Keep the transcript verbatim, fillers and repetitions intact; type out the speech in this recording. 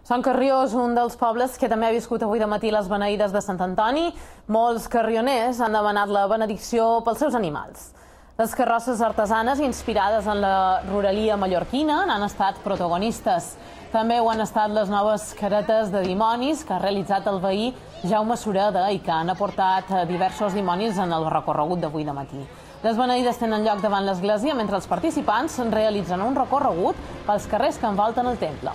Sant Carrió és un dels pobles que també ha viscut avui de matí les beneïdes de Sant Antoni. Molts carrioners han demanat la benedicció pels seus animals. Les carrosses artesanes inspirades en la ruralia mallorquina n'han estat protagonistes. També ho han estat les noves caretes de dimonis que ha realitzat el veí Jaume Sureda i que han aportat diversos dimonis en el recorregut d'avui de matí. Les beneïdes tenen lloc davant l'església mentre els participants realitzen un recorregut pels carrers que envolten el temple.